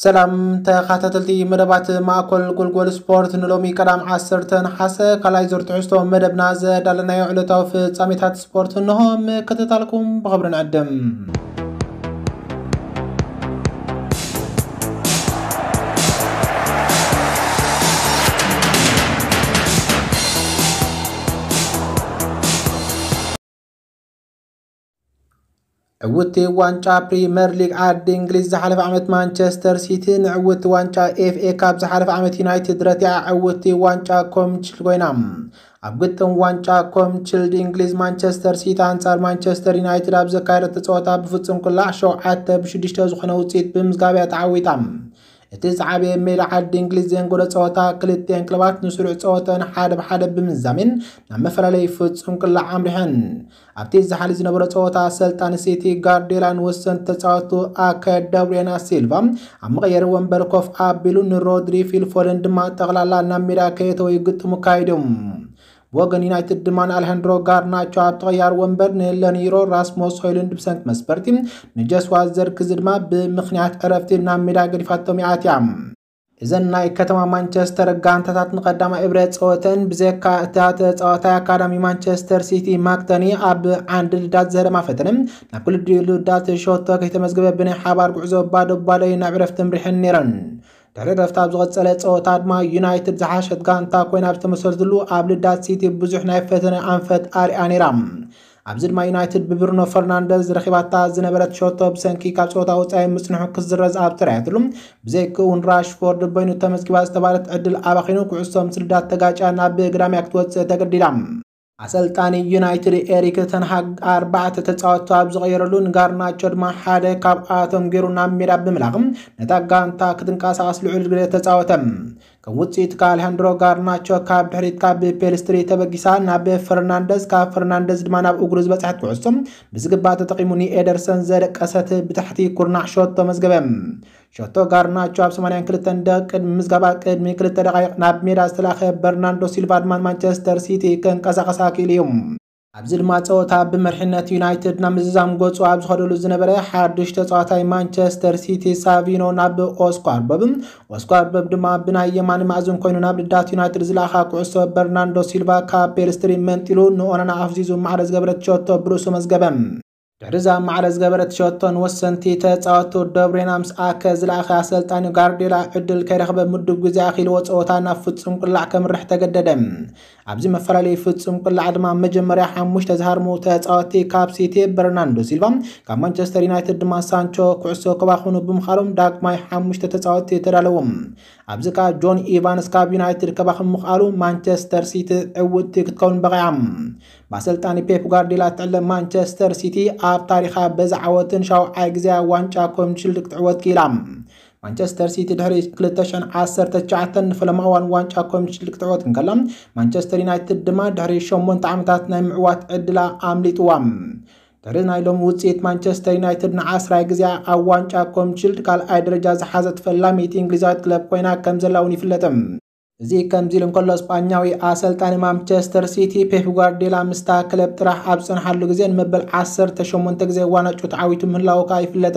ሰላም ተኸታተልቲ መደባት ማእኮል ጎልጎል ስፖርት፣ ንሎሚ ቀዳም ዓሰርተ ነሓሰ ካልኣይ ዙር ትሕዝቶ መደብና ዘዳለናዮ ዕለታዊ ፍጻሜታት ስፖርት እንሆ። ምክትታልኩም ብኽብሪ ንዕድም። ዕውቲ ዋንጫ ፕሪመር ሊግ ዓዲ እንግሊዝ ዝሓለፈ ዓመት ማንቸስተር ሲቲ፣ ንዕውቲ ዋንጫ ኤፍኤ ካፕ ዝሓለፈ ዓመት ዩናይትድ ረቲዓ ዕውቲ ዋንጫ ኮምችል ኮይና። ኣብ ግጥም ዋንጫ ኮምችልድ እንግሊዝ ማንቸስተር ሲቲ ኣንጻር ማንቸስተር ዩናይትድ ኣብ ዘካየደቶ ጸወታ ብፍጹም ቅላዕ ሸውዓተ ብሽዱሽተ ዝኾነ ውጽኢት ብምዝጋብ እያ ተዓዊታ። እቲ ዝዓበየ ሜዳ ዓዲ እንግሊዝ ዘንጎደ ጸወታ ክልቲኤን ክለባት ንስሩዕ ጸወተን ሓደ ብሓደ ብምዛሜን ናብ መፈላለይ ፍጹም ቅላዕ ኣምሪሐን። ኣብቲ ዝሓሊ ዝነበረ ጸወታ ኣሰልጣኒ ሲቲ ጋርዲዮላ ንወሰንቲ ተጻወቱ ኣከደብሬና ሲልቫ ኣብ መቐየሪ ወንበር ኮፍ ኣቢሉ ንሮድሪ ፊልፎደን ድማ ጠቕላላ ናብ ሜዳ ከየተወ ይግጥሙ ካይዶም። ብወገን ዩናይትድ ድማ ንኣሌሃንድሮ ጋርናቾ ኣብ ተቐያሪ ወንበር ንለኒሮ ራስሞስ ሆይሉንድ ብሰንኪ መስበርቲ ንጀስዋ ዘርክዚ ድማ ብምኽንያት ዕረፍቲ ናብ ሜዳ ገዲፋቶም ይኣትያ። እዘን ናይ ከተማ ማንቸስተር ጋንታታት ንቐዳማይ እብረ ጸወተን ብዘካ እታ ተጻዋታይ ኣካዳሚ ማንቸስተር ሲቲ ማክተኒ ኣብ ዓንዲ ልዳት ዘረማ ፈተነ ናብ ክልዲኡ ልዳት ሸቶ ከይተመዝገበ ብናይ ሓባር ጉዕዞ ባዶ ባዶ እዩ ናብ ዕረፍቲ ምሪሐን ነይረን። ድሕሪ ዕረፍቲ ኣብ ዝቐጸለ ጸወታ ድማ ዩናይትድ ዝሓሸት ጋንታ ኮይና ኣብ ዝተመሰረትሉ ኣብ ልዳት ሲቲ ብዙሕ ናይ ፈተነ ኣንፈት ኣርያ ነይራ። ኣብዚ ድማ ዩናይትድ ብብሩኖ ፈርናንደዝ ረኺባታ ዝነበረት ሸቶ ብሰንኪ ካብ ጸወታ ወጻኢ ምጽንሑ ክዝረዝ ኣብ ተራእየትሉ፣ ብዘይክውን ራሽፎርድ በይኑ ተመዝጊባ ዝተባለት ዕድል ኣባኺኑ ኩዕሶ ምስ ልዳት ተጋጫ ናብ ግዳምያ ክትወጽእ ተገዲዳ። ኣሰልጣኒ ዩናይትድ ኤሪክ ተንሃግ ኣርባዕተ ተጻወትቱ ኣብ ዝቐየረሉ ንጋርናቾ ድማ ሓደ ካብኣቶም ገይሩ ናብ ሜዳ ብምላቕ ነታ ጋንታ ክትንቀሳቐስ ልዑል ግደ ተጻወተ። ከም ውጽኢት ከኣሌሃንድሮ ጋርናቾ ካብ ድሕሪት ካብ ፔልስትሪ ተበጊሳ ናብ ፈርናንደዝ፣ ካብ ፈርናንደዝ ድማ ናብ እግሩ ዝበጽሐት ኩዕሶ ብዝግባእ ተጠቒሙ ንኤደርሰን ዘደቀሰት ብታሕቲ ኩርናዕ ሸቶ መዝገበ። ሸቶ ጋርናቾ ኣብ ሰማንያን ክልተን ደቂቕ ቅድሚ ምዝጋባ ቅድሚ ክልተ ደቓይቕ ናብ ሜዳ ዝተላኸ በርናንዶ ሲልቫ ድማ ንማንቸስተር ሲቲ ከንቀሳቐሳ ክኢሉ እዩ። ኣብዚ ድማ ጸወታ ብመሪሕነት ዩናይትድ ናብ ምዝዛም ገጹ ኣብ ዝኸደሉ ዝነበረ ሓድሽ ተጻዋታይ ማንቸስተር ሲቲ ሳቪኖ ናብ ኦስኳር በብ፣ ኦስኳር በብ ድማ ብናይ የማን ማእዝን ኮይኑ ናብ ልዳት ዩናይትድ ዝለኣኻ ኩዕሶ በርናንዶ ሲልቫ ካብ ፔልስትሪ መንጢሉ ንኦናና ኣፍዚዙ ማዕረ ዝገበረት ሸቶ ብርእሱ መዝገበ። ድሕሪዛ ማዕረ ዝገበረት ሸቶን ወሰንቲ ተጻወቱ ደብሬና ምስ ኣከ ዝለኣኸ ኣሰልጣኒ ጋርዲዮላ ዕድል ከይረኸበ ምዱብ ግዜ ኣኺልዎ ጸወታ ናብ ፍጹም ቅላዕ ከምርሕ ተገደደ። ኣብዚ መፈላለዩ ፍጹም ቅላዕ ድማ መጀመርያ ሓሙሽተ ዝሃርሙ ተጻወቲ ካብ ሲቲ በርናንዶ ሲልቫ፣ ካብ ማንቸስተር ዩናይትድ ድማ ሳንቾ ኩዕሶ ከባኽኑ ብምኻሎም ዳግማይ ሓሙሽተ ተጻወቲ ተዳለዎም። ኣብዚ ከኣ ጆን ኢቫንስ ካብ ዩናይትድ ከባኽም ምኽኣሉ ማንቸስተር ሲቲ ዕውትቲ ክትከውን በቒዓ። ብኣሰልጣኒ ፔፕ ጓርዲዮላ ትዕለ ማንቸስተር ሲቲ ኣብ ታሪኻ በዛ ዓወትን ሻውዓይ ግዜ ዋንጫ ኮምሽልድ ክትዕወት ክኢላ። ማንቸስተር ሲቲ ድሕሪ ክልተ ሽሕን ዓሰርተ ትሽዓተን ንፈለማ እዋን ዋንጫ ኮምሽልድ ክትዕወት እንከላ፣ ማንቸስተር ዩናይትድ ድማ ድሕሪ ሸሞንተ ዓመታት ናይ ምዕዋት ዕድላ ኣምሊጥዋ። ድሕሪ ናይ ሎሚ ውጽኢት ማንቸስተር ዩናይትድ ንዓስራይ ግዜ ኣብ ዋንጫ ኮምሽልድ ካልኣይ ደረጃ ዝሓዘት ፈላሚቲ እንግሊዛዊት ክለብ ኮይና ከም ዘላ እውን ይፍለጥ። እዚ ከምዚ ኢሉ እንከሎ፣ ስጳኛዊ ኣሰልጣኒ ማንቸስተር ሲቲ ፔፕ ጓርዲዮላ ምስታ ክለብ ጥራሕ ኣብ ዝጸንሓሉ ግዜ ንመበል ዓሰርተ ሸሞንተ ግዜ ዋንጫ ተዓዊቱ ምህላዉ ከኣ ይፍለጥ።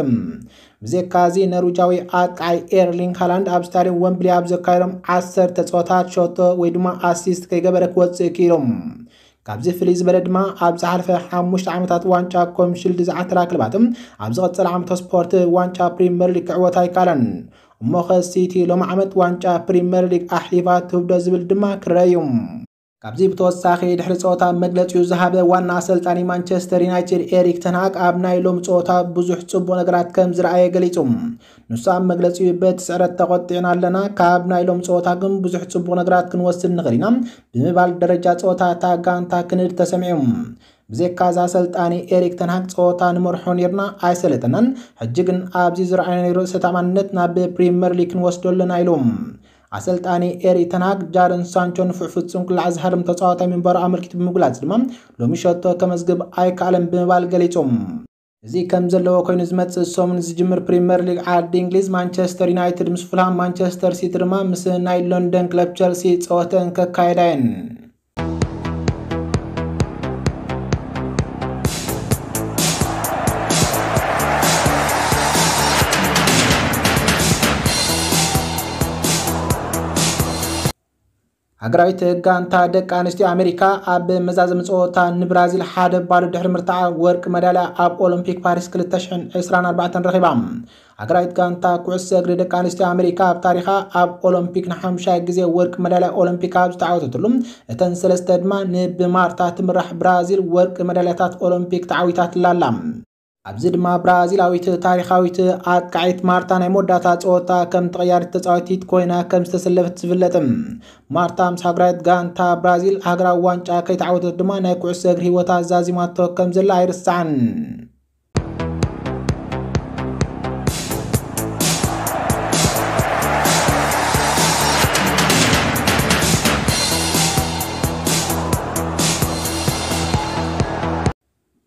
ብዘይካዚ፣ ኖርዊጃዊ ኣጥቃዓይ ኤርሊንግ ሃላንድ ኣብ ስታድየም ወምብሊ ኣብ ዘካየዶም ዓሰርተ ጸወታት ሸቶ ወይ ድማ ኣሲስት ከይገበረ ክወጽእ ክኢሉ። ካብዚ ፍልይ ዝበለ ድማ፣ ኣብ ዝሓለፈ ሓሙሽተ ዓመታት ዋንጫ ኮምሽልድ ዝዓተራ ክለባት ኣብ ዝቐጸለ ዓመተ ስፖርት ዋንጫ ፕሪምየር ሊግ ክዕወታ ኣይከኣለን። እሞኸ ሲቲ ሎሚ ዓመት ዋንጫ ፕሪምየር ሊግ ኣሕሊፋ ትህብዶ ዝብል ድማ ክረአ እዩ። ካብዚ ብተወሳኺ ድሕሪ ጸወታ መግለጺኡ ዝሃበ ዋና ኣሰልጣኒ ማንቸስተር ዩናይትድ ኤሪክ ተንሃግ ኣብ ናይ ሎሚ ጸወታ ብዙሕ ጽቡቕ ነገራት ከም ዝረኣየ ገሊጹ። ንሱ ኣብ መግለጺኡ በቲ ስዕረት ተቖጢዕና ኣለና፣ ካብ ናይ ሎሚ ጸወታ ግን ብዙሕ ጽቡቕ ነገራት ክንወስድ ንኽእል ኢና ብምባል ደረጃ ጸወታ እታ ጋንታ ክንድ ተሰሚዑ። ብዘይካ እዚ ኣሰልጣኒ ኤሪክ ተንሃግ ጸወታ ንመርሖ ኔርና ኣይሰለጠናን፣ ሕጂ ግን ኣብዚ ዝረኣየናዮ ርእሰ ተኣማንነት ናብ ፕሪምየር ሊግ ክንወስዶ ኣለና ኢሉ። ኣሰልጣኒ ኤሪክ ተንሃግ ጃደን ሳንቾ ንፉዕ ፍጹም ቅላዕ ዝሃርም ተጻዋታይ ምንባሩ ኣመልኪቱ ብምግላጽ ድማ ሎሚ ሸቶ ከመዝግብ ኣይከኣለን ብምባል ገሊጹ። እዚ ከም ዘለዎ ኮይኑ ዝመጽእ ሰሙን ዝጅምር ፕሪምየር ሊግ ዓዲ እንግሊዝ ማንቸስተር ዩናይትድ ምስ ፉልሃም፣ ማንቸስተር ሲቲ ድማ ምስ ናይ ሎንደን ክለብ ቸልሲ ጸወተን ከካየዳ እየን። ሃገራዊት ጋንታ ደቂ ኣንስትዮ ኣሜሪካ ኣብ መዛዘሚ ጸወታ ንብራዚል ሓደ ባዶ ድሕሪ ምርታዓ ወርቂ መዳልያ ኣብ ኦሎምፒክ ፓሪስ ክልተ ሽሕን ዕስራን ኣርባዕተን ረኺባ። ሃገራዊት ጋንታ ኩዕሶ እግሪ ደቂ ኣንስትዮ ኣሜሪካ ኣብ ታሪኻ ኣብ ኦሎምፒክ ንሓሙሻይ ግዜ ወርቂ መዳልያ ኦሎምፒክ ኣብ ዝተዓወተትሉ፣ እተን ሰለስተ ድማ ንብማርታ ትምራሕ ብራዚል ወርቂ መዳልያታት ኦሎምፒክ ተዓዊታትላ ኣላ። ኣብዚ ድማ ብራዚላዊት ታሪኻዊት ኣጥቃዒት ማርታ ናይ መወዳእታ ጸወታ ከም ተቐያሪት ተጻዋቲት ኮይና ከም ዝተሰለፈት ዝፍለጥ። ማርታ ምስ ሃገራዊት ጋንታ ብራዚል ሃገራዊ ዋንጫ ከይተዓወተት ድማ ናይ ኩዕሶ እግሪ ህይወታ ዛዚማቶ ከም ዘላ ኣይርሳዕን።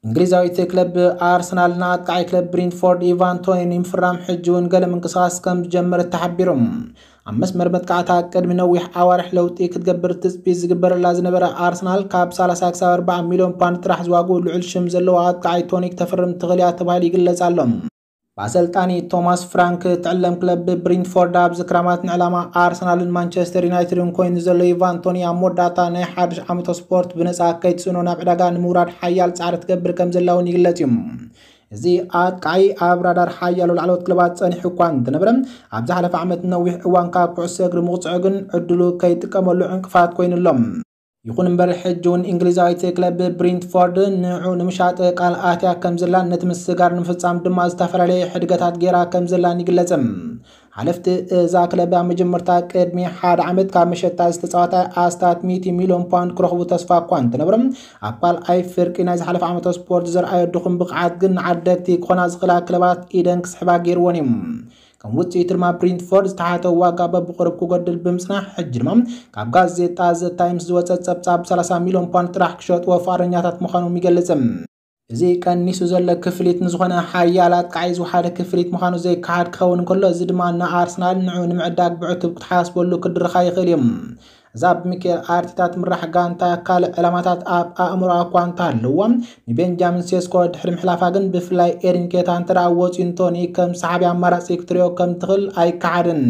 እንግሊዛዊት ክለብ ኣርሰናል ንኣጥቃዒ ክለብ ብሪንትፎርድ ኢቫን ቶኒ ንምፍራም ሕጂ እውን ገለ ምንቅስቓስ ከም ዝጀመረት ተሓቢሩ። ኣብ መስመር መጥቃዕታ ቅድሚ ነዊሕ ኣዋርሕ ለውጢ ክትገብር ትጽቢት ዝግበረላ ዝነበረ ኣርሰናል፣ ካብ ሰላሳ ክሳብ ኣርባዓ ሚልዮን ፓውንድ ጥራሕ ዝዋግኡ ልዑል ሽም ዘለዎ ኣጥቃዒ ቶኒ ክተፍርም ትኽእል እያ ተባሂሉ ይግለጽ ኣሎ። ብኣሰልጣኒ ቶማስ ፍራንክ ትዕለም ክለብ ብሪንትፎርድ ኣብዚ ክራማት ንዕላማ ኣርሰናልን ማንቸስተር ዩናይትድን ኮይኑ ዘሎ ኢቫን ቶኒ ኣብ መወዳእታ ናይ ሓድሽ ዓመተ ስፖርት ብነጻ ከይትስእኖ ናብ ዕዳጋ ንምውራድ ሓያል ጻዕሪ ትገብር ከም ዘላ እውን ይግለጽ እዩ። እዚ ኣጥቃዒ ኣብ ራዳር ሓያሎ ላዕለዎት ክለባት ጸኒሑ እኳ እንተነበረ፣ ኣብ ዝሓለፈ ዓመት ነዊሕ እዋን ካብ ኩዕሶ እግሪ ምቕጽዑ ግን ዕድሉ ከይጥቀመሉ ዕንቅፋት ኮይኑ ኣሎ። ይኹን እምበር፣ ሕጂ እውን እንግሊዛዊት ክለብ ብሪንትፎርድ ንዕኡ ንምሻጥ ቃል ኣትያ ከም ዘላን ነቲ ምስግጋር ንምፍጻም ድማ ዝተፈላለየ ሕድገታት ገይራ ከም ዘላን ይግለጽ። ሓለፍቲ እዛ ክለብ ኣብ መጀመርታ ቅድሚ ሓደ ዓመት ካብ መሸጣ ዝተጻወተ ኣስታት ሚእቲ ሚልዮን ፓውንድ ክረኽቡ ተስፋ እኳ እንተነበሮም፣ ኣብ ካልኣይ ፍርቂ ናይ ዝሓለፈ ዓመተ ስፖርት ዘርኣዮ ድኹም ብቕዓት ግን ንዓደግቲ ክኾና ዝኽእላ ክለባት ኢደን ክስሕባ ገይርወን እዩ። ከም ውጽኢቱ ድማ ብሪንትፎርድ ዝተሓተ ዋጋ በብቕሩብ ክጎድል ብምጽናሕ፣ ሕጂ ድማ ካብ ጋዜጣ ዘ ታይምስ ዝወጸ ጸብጻብ ሰላሳ ሚልዮን ፓውንድ ጥራሕ ክሸጥዎ ፍቓደኛታት ምዃኖም ይገልጽ። እዚ ቀኒሱ ዘሎ ክፍሊት ንዝኾነ ሓያል ኣጥቃዒ ዝወሓደ ክፍሊት ምዃኑ ዘይከሓድ ክኸውን እንከሎ፣ እዚ ድማ ንኣርሰናል ንዑ ንምዕዳግ ብዕቱብ ክትሓስበሉ ክድርኻ ይኽእል እዩ። እዛ ብሚኬል ኣርቴታ ትምራሕ ጋንታ ካልእ ዕላማታት ኣብ ኣእምሮኣ እኳ እንተሃለዋ፣ ንቤንጃሚን ሴስኮ ድሕሪ ምሕላፋ ግን፣ ብፍላይ ኤሪንኬታ እንተ ደኣ ወጺኡ ንቶኒ ከም ሰሓቢ ኣማራጺ ክትሪኦ ከም ትኽእል ኣይከሓድን።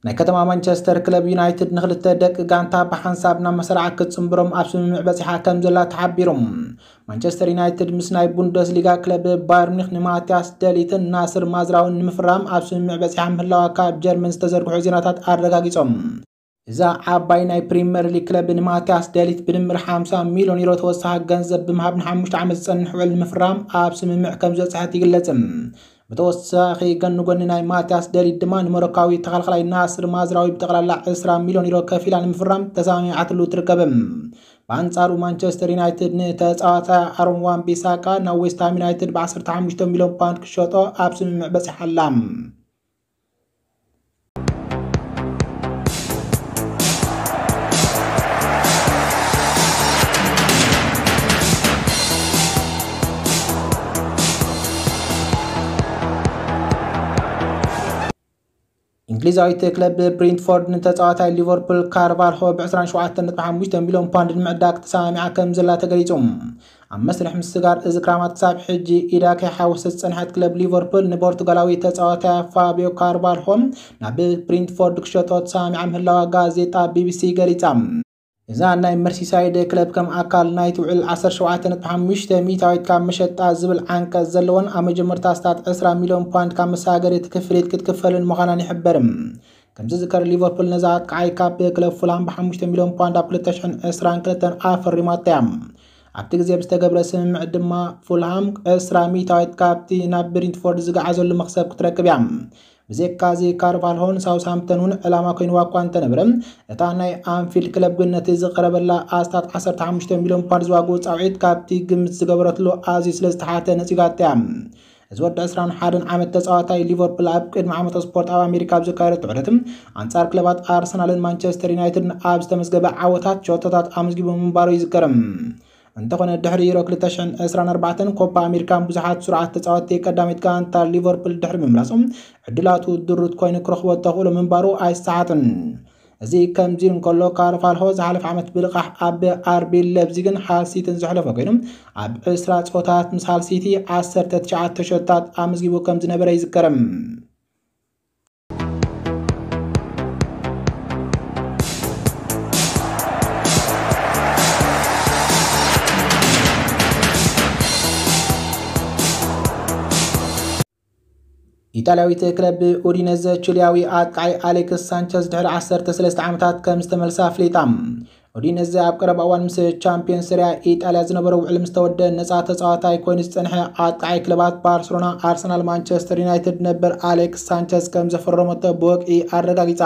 ናይ ከተማ ማንቸስተር ክለብ ዩናይትድ ንክልተ ደቂ ጋንታ ብሓንሳብ ናብ መሰራዓ ክትጽንብሮም ኣብ ስምምዕ በጺሓ ከም ዘላ ተሓቢሩ። ማንቸስተር ዩናይትድ ምስ ናይ ቡንደስሊጋ ክለብ ባየር ሚኒክ ንማቲያስ ደሊትን ናስር ማዝራውን ንምፍራም ኣብ ስምምዕ በጺሓ ምህላዋ ካብ ጀርመን ዝተዘርግሑ ዜናታት ኣረጋጊጾም። እዛ ዓባይ ናይ ፕሪምየር ሊግ ክለብ ንማቲያስ ደሊት ብድምር ሓምሳ ሚልዮን ዩሮ ተወሳኺ ገንዘብ ብምሃብ ንሓሙሽተ ዓመት ዝጸንሕ ውዕል ንምፍራም ኣብ ስምምዕ ከም ዝበጽሐት ይግለጽ። ብተወሳኺ፣ ጎኒ ጎኒ ናይ ማቲያስ ደሊት ድማ ንሞሮካዊ ተኸላኻላይ ናስር ማዝራዊ ብጠቕላላ ዕስራ ሚልዮን ዩሮ ከፊላ ንምፍራም ተሰማሚዓትሉ ትርከብ። ብኣንጻሩ፣ ማንቸስተር ዩናይትድ ንተጻዋታይ ኣሮን wan-ቢሳካ ናብ ዌስትሃም ዩናይትድ ብዓሰርተ ሓሙሽተ ሚልዮን ፓውንድ ክሸጦ ኣብ ስምምዕ በጺሓ ኣላ። እንግሊዛዊት ክለብ ብሪንትፎርድ ንተጻዋታይ ሊቨርፑል ካርቫልሆ ብ ዕስራን ሸውዓተን ነጥቢ ሓሙሽተ ሚልዮን ፓውንድ ንምዕዳግ ተሰማሚዓ ከም ዘላ ተገሊጹ። ኣብ መስርሕ ምስጋር እዚ ክራማት ክሳብ ሕጂ ኢዳ ከይሓወሰት ዝጸንሐት ክለብ ሊቨርፑል ንፖርቱጋላዊ ተጻዋታይ ፋቢዮ ካርቫልሆ ናብ ብሪንትፎርድ ክሸጦ ተሰማሚዓ ምህላዋ ጋዜጣ ቢቢሲ ገሊጻ። እዛ ናይ መርሲሳይድ ክለብ ከም ኣካል ናይቲ ውዕል ዓሰርተ ሸውዓተ ነጥቢ ሓሙሽተ ሚእታዊት ካብ መሸጣ ዝብል ዓንቀጽ ዘለዎን ኣብ መጀመርታ ኣስታት ዕስራ ሚልዮን ፓውንድ ካብ መሰጋገሪ እቲ ክፍሊት ክትክፈልን ምዃናን ይሕበር። ከም ዝዝከር፣ ሊቨርፑል ነዛ ኣጥቃዓይ ካብ ክለብ ፉልሃም ብ ሓሙሽተ ሚልዮን ፓውንድ ኣብ ክልተ ሽሕን ዕስራን ክልተን ኣፈሪማታ እያ። ኣብቲ ግዜ ብዝተገብረ ስምምዕ ድማ ፉልሃም ዕስራ ሚእታዊት ካብቲ ናብ ብሪንትፎርድ ዝገዓዘሉ መኽሰብ ክትረክብ እያ። ብዘይካዚ፣ ካርቫልሆን ሳውስሃምፕተን እውን ዕላማ ኮይንዋ እኳ እንተነበረ፣ እታ ናይ ኣንፊልድ ክለብ ግን ነቲ ዝቐረበላ ኣስታት ዓሰርተ ሓሙሽተ ሚልዮን ፓውንድ ዝዋግኡ ጻውዒት ካብቲ ግምት ዝገበረትሉ ኣዝዩ ስለ ዝተሓተ ነጺጋታ እያ። እዚ ወዲ ዕስራን ሓደን ዓመት ተጻዋታይ ሊቨርፑል ኣብ ቅድሚ ዓመተ ስፖርት ኣብ ኣሜሪካ ኣብ ዘካየደቶ ዑደት፣ ኣንጻር ክለባት ኣርሰናልን ማንቸስተር ዩናይትድን ኣብ ዝተመዝገበ ዓወታት ሸቶታት ኣመዝጊቡ ምንባሩ ይዝከር። እንተኾነ፣ ድሕሪ ዩሮ ክልተ ሽሕን ዕስራን ኣርባዕተን ኮፓ ኣሜሪካን ብዙሓት ስሩዓት ተጻወትቲ ቀዳመይቲ ጋንታ ሊቨርፑል ድሕሪ ምምላሶም፣ ዕድላቱ ድሩት ኮይኑ ክረኽቦ ተኽእሎ ምንባሩ ኣይሰሓትን። እዚ ከምዚ እንከሎ፣ ካርቫልሆ ዝሓለፈ ዓመት ብልቓሕ ኣብ ኣርቢ ሌፕዚግን ሃል ሲቲን ዘሕለፈ ኮይኑ፣ ኣብ ዕስራ ጸወታት ምስ ሃል ሲቲ ዓሰርተ ትሽዓተ ሸቶታት ኣመዝጊቡ ከም ዝነበረ ይዝከር። ኢጣልያዊት ክለብ ኡዲነዘ፣ ቺሊያዊ ኣጥቃዓይ ኣሌክስ ሳንቸዝ ድሕሪ ዓሰርተ ሰለስተ ዓመታት ከም ዝተመልሳ ኣፍሊጣ። ኡዲነዘ ኣብ ቀረባ እዋን ምስ ቻምፒዮን ሰሪያ ኢጣልያ ዝነበሮ ውዕል ምስ ተወደ፣ ነጻ ተጻዋታይ ኮይኑ ዝጸንሐ ኣጥቃዓይ ክለባት ባርሰሎና፣ ኣርሰናል፣ ማንቸስተር ዩናይትድ ነበር ኣሌክስ ሳንቸዝ ከም ዘፈረመቶ ብወግዒ ኣረጋጊጻ።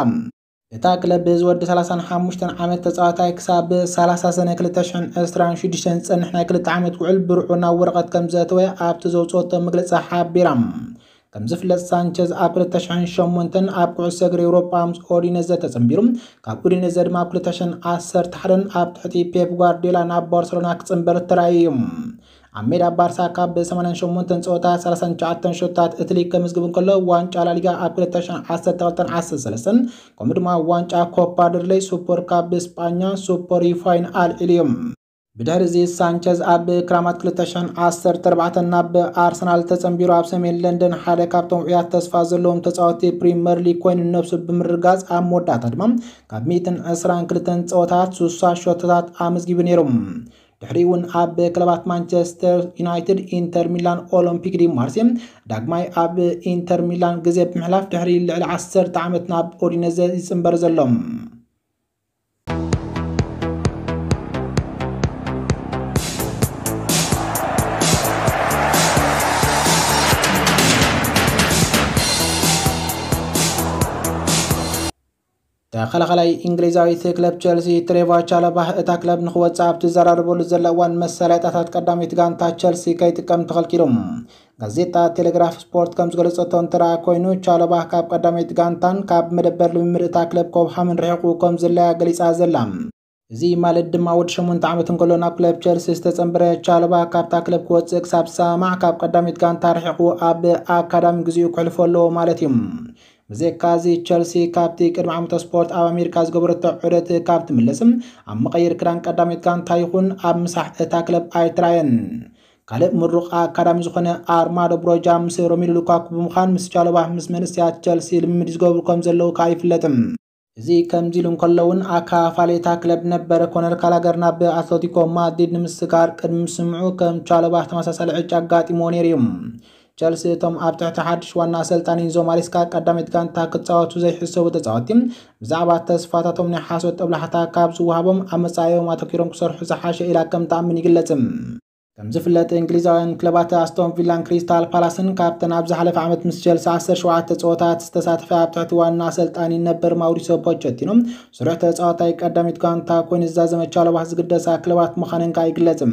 እታ ክለብ ዝወዲ ሰላሳን ሓሙሽተን ዓመት ተጻዋታይ ክሳብ ሰላሳ ሰነ ክልተ ሽሕን ዕስራን ሽዱሽተን ዝጸንሕ ናይ ክልተ ዓመት ውዕል ብርዑ ናብ ወረቐት ከም ዘእተወ ኣብቲ ዘውጽኦቶ መግለጺ ሓቢራ። ከም ዝፍለጥ፣ ሳንቸዝ ኣብ ክልተ ሽሕን ሸሞንተን ኣብ ኩዕሶ እግሪ ኤውሮጳ ምስ ኦዲነዘ ተጸንቢሩ፣ ካብ ኦዲነዘ ድማ ኣብ ክልተ ሽሕን ዓሰርተ ሓደን ኣብ ትሕቲ ፔፕ ጓርዲዮላ ናብ ባርሰሎና ክጽንበር ተራእዩ እዩ። ኣብ ሜዳ ባርሳ ካብ ሰማንያን ሸሞንተን ጸወታ ሰላሳን ትሽዓተን ሸቶታት እትሊ ከምዝግብ እንከሎ፣ ዋንጫ ላሊጋ ኣብ ክልተ ሽሕን ዓሰርተ ክልተን ዓሰርተ ሰለስተን፣ ከምኡ ድማ ዋንጫ ኮፓ ደርሌይ ሱፐር ካፕ ስጳኛ ሱፐር ዩፋይን ኣልዒሉ እዩ። ብድሕሪ እዚ ሳንቸዝ ኣብ ክራማት ክልተ ሽሕን ዓሰርተ ኣርባዕተን ናብ ኣርሰናል ተጸንቢሩ፣ ኣብ ሰሜን ለንደን ሓደ ካብቶም ውዑያት ተስፋ ዘለዎም ተጻወትቲ ፕሪመር ሊግ ኮይኑ ነብሱ ብምርጋጽ፣ ኣብ መወዳእታ ድማ ካብ ሚእትን ዕስራን ክልተን ጸወታት ሱሳ ሸቶታት ኣመዝጊቡ ነይሩ። ድሕሪኡ እውን ኣብ ክለባት ማንቸስተር ዩናይትድ፣ ኢንተር ሚላን፣ ኦሎምፒክ ዲ ማርሴ፣ ዳግማይ ኣብ ኢንተር ሚላን ግዜ ብምሕላፍ ድሕሪ ልዕሊ ዓሰርተ ዓመት ናብ ኦዲነዘ ይጽንበር ዘሎ። ተኸላኻላይ እንግሊዛዊት ክለብ ቸልሲ ትሬቫ ቻለባህ እታ ክለብ ንኽወጽእ ኣብ ትዘራረበሉ ዘላ እዋን መሳለጥያታት ቀዳመይቲ ጋንታ ቸልሲ ከይጥቀም ተኸልኪሉ። ጋዜጣ ቴሌግራፍ ስፖርት ከም ዝገለጸቶ እንተ ደኣ ኮይኑ፣ ቻለባህ ካብ ቀዳመይቲ ጋንታን ካብ መደበር ልምምድ እታ ክለብ ኮብሃምን ርሒቑ ከም ዝለያ ገሊጻ ዘላ። እዚ ማለት ድማ ወዲ ሸሞንተ ዓመት እንከሎ ናብ ክለብ ቸልሲ ዝተጸንበረ ቻለባህ ካብታ ክለብ ክወጽእ ክሳብ ዝሰማማዕ ካብ ቀዳመይቲ ጋንታ ርሒቑ ኣብ ኣካዳሚ ግዜኡ ክሕልፎ ኣለዎ ማለት እዩ። ብዘይካ እዚ፣ ቸልሲ ካብቲ ቅድሚ ዓመተ ስፖርት ኣብ ኣሜሪካ ዝገበረቶ ዑደት ካብ ትምለስ፣ ኣብ መቐየሪ ክዳን ቀዳመይቲ ጋንታ ይኹን ኣብ ምሳሕ እታ ክለብ ኣይትራየን። ካልእ ምሩቕ ኣካዳሚ ዝኾነ ኣርማዶ ብሮጃ ምስ ሮሜሉ ሉካኩ ብምዃን ምስ ቻሎባ ምስ መንእሰያት ቸልሲ ልምምድ ዝገብሩ ከም ዘለዉ ከኣ ይፍለጥ። እዚ ከምዚ ኢሉ እንከሎ እውን፣ ኣካፋሊ እታ ክለብ ነበረ ኮነር ካላገር ናብ ኣትለቲኮ ማድሪድ ንምስጋር ቅድሚ ምስምዑ ከም ቻሎባ ተመሳሳሊ ዕጫ ኣጋጢምዎ ነይሩ እዩ። ቸልሲ እቶም ኣብ ትሕቲ ሓድሽ ዋና ኣሰልጣኒ ኢንዞ ማሬስካ ቀዳመይቲ ጋንታ ክጻወቱ ዘይሕሰቡ ተጻወትቲ ብዛዕባ ተስፋታቶም ናይ ሓሶት ጦብላሕታ ካብ ዝወሃቦም ኣብ መጻኢኦም ኣተኲሮም ክሰርሑ ዝሓሸ ኢላ ከም ትኣምን ይግለጽ። ከም ዝፍለጥ እንግሊዛውያን ክለባት ኣስቶን ቪላን ክሪስታል ፓላስን ካብተን ኣብ ዝሓለፈ ዓመት ምስ ቸልሲ ዓሰርተ ሸውዓተ ጸወታት ዝተሳተፈ ኣብ ትሕቲ ዋና ኣሰልጣኒ ነበር ማውሪሶ ፖቸቲኖ ስሩዕ ተጻዋታይ ቀዳሚት ጋንታ ኮይኑ ዝዛዘመ ቻሎባ ዝግደሳ ክለባት ምዃነን ከኣ ይግለጽ።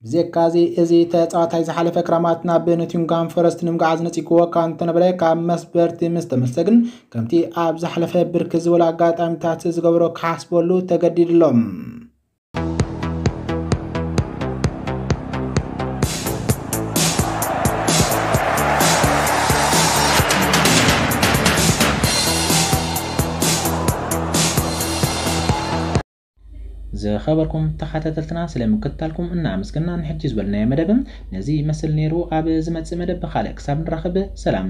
ብዘይካዚ፣ እዚ ተጻዋታይ ዝሓለፈ ክራማት ናብ ኖቲንግሃም ፎረስት ንምግዓዝ ነጺግዎ እኳ እንተነበረ፣ ካብ መስበርቲ ምስ ተመልሰ ግን ከምቲ ኣብ ዝሓለፈ ብርክት ዝበሉ ኣጋጣሚታት ዝገበሮ ክሓስበሉ ተገዲዱ ኣሎ። ዝኸበርኩም ተኸታተልትና ስለ ምክትታልኩም እናኣመስገና ንሕጂ ዝበልናዮ መደብ ነዚ ይመስል ነይሩ። ኣብ ዝመጽእ መደብ ብኻልእ ክሳብ ንራኸብ ሰላም።